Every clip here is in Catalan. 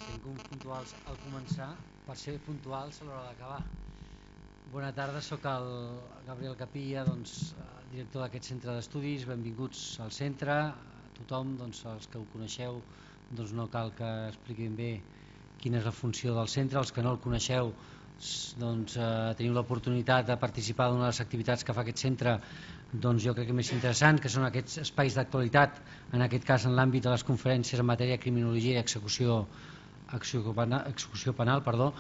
siguem puntuals al començar per ser puntuals a l'hora d'acabar. Bona tarda, sóc el Gabriel Capilla, director d'aquest centre d'estudis. Benvinguts al centre. A tothom, els que ho coneixeu, no cal que expliquin bé quina és la funció del centre. Els que no el coneixeu, teniu l'oportunitat de participar d'una de les activitats que fa aquest centre, jo crec que més interessant, que són aquests espais d'actualitat, en aquest cas en l'àmbit de les conferències en matèria de criminologia i execució penal.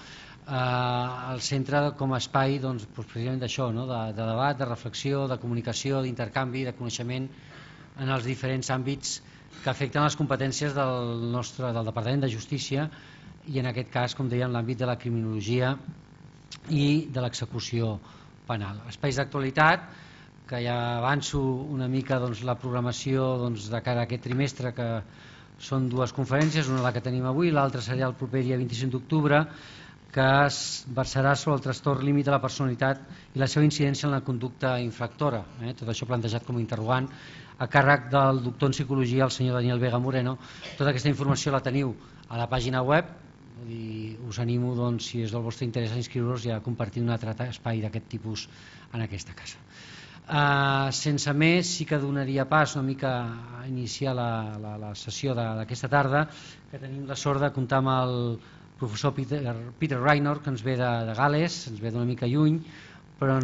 El centre com a espai precisament d'això, de debat, de reflexió, de comunicació, d'intercanvi, de coneixement en els diferents àmbits que afecten les competències del Departament de Justícia i en aquest cas, com deia, en l'àmbit de la criminologia i de l'execució penal. Espais d'actualitat, que ja avanço una mica la programació de cara a aquest trimestre, que són dues conferències, una la que tenim avui, l'altra seria el proper dia 25 d'octubre, que es versarà sobre el trastorn límit de la personalitat i la seva incidència en la conducta infractora. Tot això plantejat com a interrogant a càrrec del doctor en psicologia, el senyor Daniel Vega Moreno. Tota aquesta informació la teniu a la pàgina web. Us animo, si és del vostre interès, a inscriure-us i a compartir un altre espai d'aquest tipus en aquesta casa. Sense més, sí que donaria pas una mica a iniciar la sessió d'aquesta tarda, que tenim la sort de comptar amb el professor Peter Raynor, que ens ve de Gal·les, ens ve d'una mica lluny, però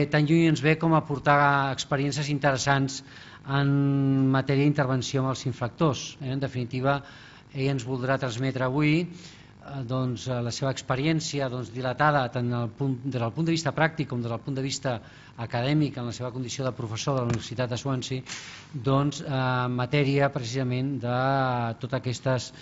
tan lluny ens ve com a portar experiències interessants en matèria d'intervenció amb els infractors. En definitiva, ell ens voldrà transmetre avui la seva experiència dilatada tant des del punt de vista pràctic com des del punt de vista acadèmic en la seva condició de professor de la Universitat de Swansea en matèria precisament de totes aquestes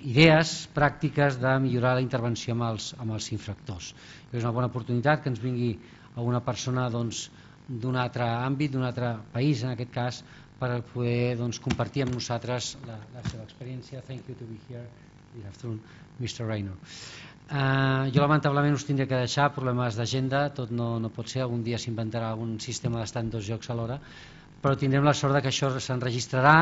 idees pràctiques de millorar la intervenció amb els infractors. És una bona oportunitat que ens vingui alguna persona d'un altre àmbit, d'un altre país en aquest cas, per poder compartir amb nosaltres la seva experiència. Thank you to be here. Good afternoon, Mr. Raynor. Jo lamentablement us tindré que deixar, problemes d'agenda, tot no pot ser, algun dia s'inventarà algun sistema d'estar en dos llocs alhora, però tindrem la sort que això s'enregistrarà.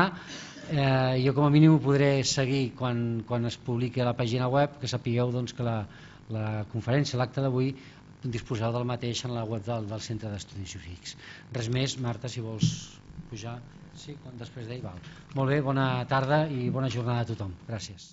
Jo com a mínim ho podré seguir quan es publiqui a la pàgina web, que sapigueu que la conferència, l'acte d'avui, disposeu del mateix en la web del Centre d'Estudis Jurídics. Res més, Marta, si vols pujar. Sí, després d'ell, val. Molt bé, bona tarda i bona jornada a tothom. Gràcies.